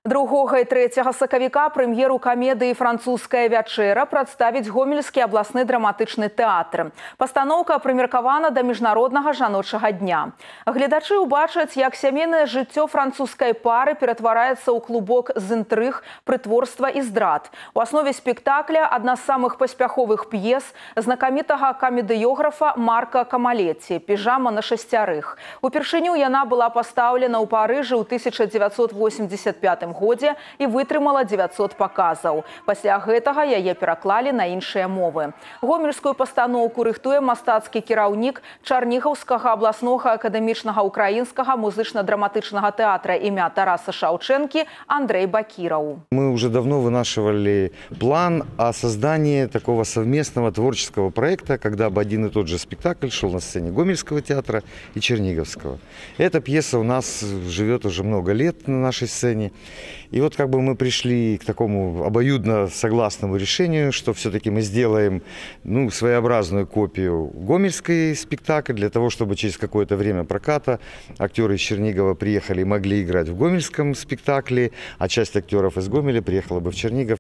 2 і 3 сакавіка прэм'еру камедыі «Французская вячэра» прадставіць Гомельскі абласны драматычны тэатр. Пастаноўка прымеркавана да міжнароднага жаночага дня. Гледачы ўбачаць, як сямейнае жыццё французскай пары ператвараецца ў клубок з інтрыг, прытворства і здрад. У аснове спектакля адна з самых паспяховых п'ес знакамітага камедыёграфа Марка Камалеці «Піжама на шасцярых». Упершыню яна была пастаўлена ў Парыжы ў 1985 годзе і вытрымала 900 паказаў. Пасля гэтага яе пераклалі на іншыя мовы. Гомельскую пастаноўку рыхтуе мастацкі кіраўнік Чарнігаўскага абласнога акадэмічнага украінскага музычна-драматычнага тэатра імя Тараса Шаўчэнкі Андрей Бакіраў. Мы уже давно вынашивали план о создании такого совместного творческого проекта, когда бы один и тот же спектакль шел на сцене Гомельского театра и Черниговского. Эта пьеса у нас живет уже много лет на нашей сцене. И вот как бы мы пришли к такому обоюдно согласному решению, что все-таки мы сделаем своеобразную копию гомельской спектакля, для того, чтобы через какое-то время проката актеры из Чернигова приехали и могли играть в гомельском спектакле, а часть актеров из Гомеля приехала бы в Чернигов